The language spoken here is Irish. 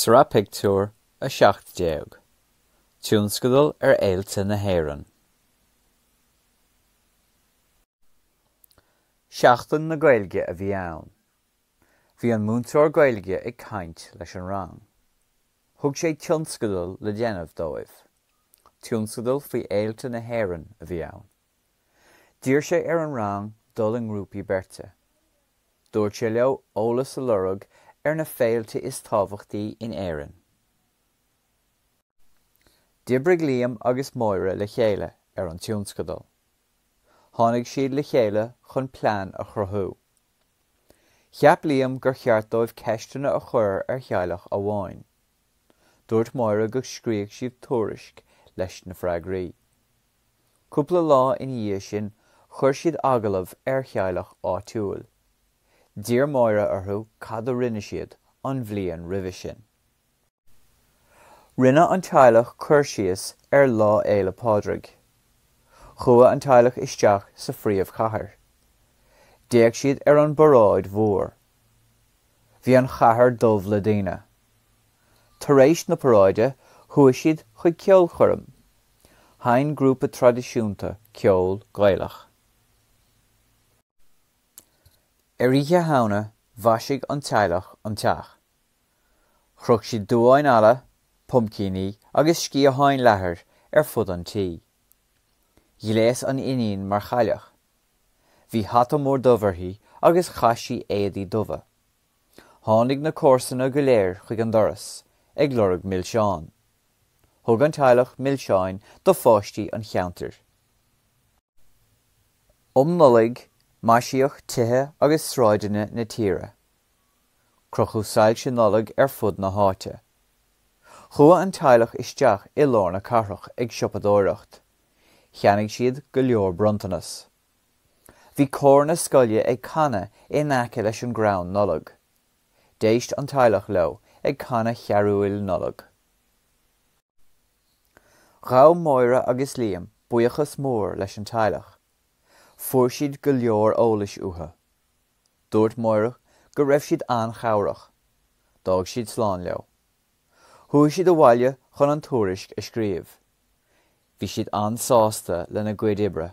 Sraith Pictiúr 17, Tionscadal ar Fhéilte na hÉireann. Seachtain na Gaeilge a bhí ann. Bhí an múinteoir Gaeilge ag caint leis an rang. Thug sé tionscadal le déanamh dóibh. Tionscadal faoi fhéilte na hÉireann a bhí ann. D'iarr sé ar an rang dul i ngrúpaí beirte. Dúirt sé leo eolas a lorg ar na féilte is tábhachtaí in Éirinn. D'oibrigh Liam agus Máire le chéile ar an tionscadal. Tháinig siad le chéile chun plean a chruthú. Cheap Liam gur cheart dóibh ceisteanna a chur ar theaghlach amháin. Dúirt Máire go scríobhadh siad tuairisc leis na freagraí. Cúpla lá ina dhiaidh sin chuir siad agallamh ar theaghlach áitiúil. D'iarr Máire orthu cad a rinne siad an bhliain roimhe sin. Rinne an teaghlach cur síos ar Lá Fhéile Pádraig. Chuaigh an teaghlach isteach sa phríomhchathair. D'fhéach siad ar an bparáid mhór. Bhí an chathair dubh le daoine. Tar éis na paráide chuaigh siad chuig ceolchoirm. Sheinn grúpa traidisiúnta ceol Gaelach. Ar Oíche Shamhna mhaisigh an teaghlach an teach. Chroch siad duáin alla, puimcíní agus sciatháin leathair ar fud an tí. Ghléas an iníon mar chailleach. Bhí hata mór dubh uirthi agus chaith sí éadaí dubha. Tháinig na comharsana go léir chuig an doras ag lorg milseán. Thug an teaghlach milseáin do pháistí an cheantair. Um Nollaig, maisíodh tithe agus sráideanna na tíre. Crochadh soilse Nollag ar fud na háite. Chuaigh an teaghlach isteach i lár na cathrach ag siopadóireacht. Cheannaigh siad go leor bronntanas. Bhí cór na scoile ag canadh in aice leis an gcrann Nollag. D'éist an teaghlach leo ag canadh charúil Nollag. Ghabh Máire agus Liam buíochas mór leis an teaghlach. Fuair siad go leor eolais uathu. Dúirt Máire go raibh siad an-chabhrach. D'fhág siad slán leo. Chuaigh siad abhaile chun an tuairisc a scríobh. Bhí siad an-sásta lena gcuid oibre.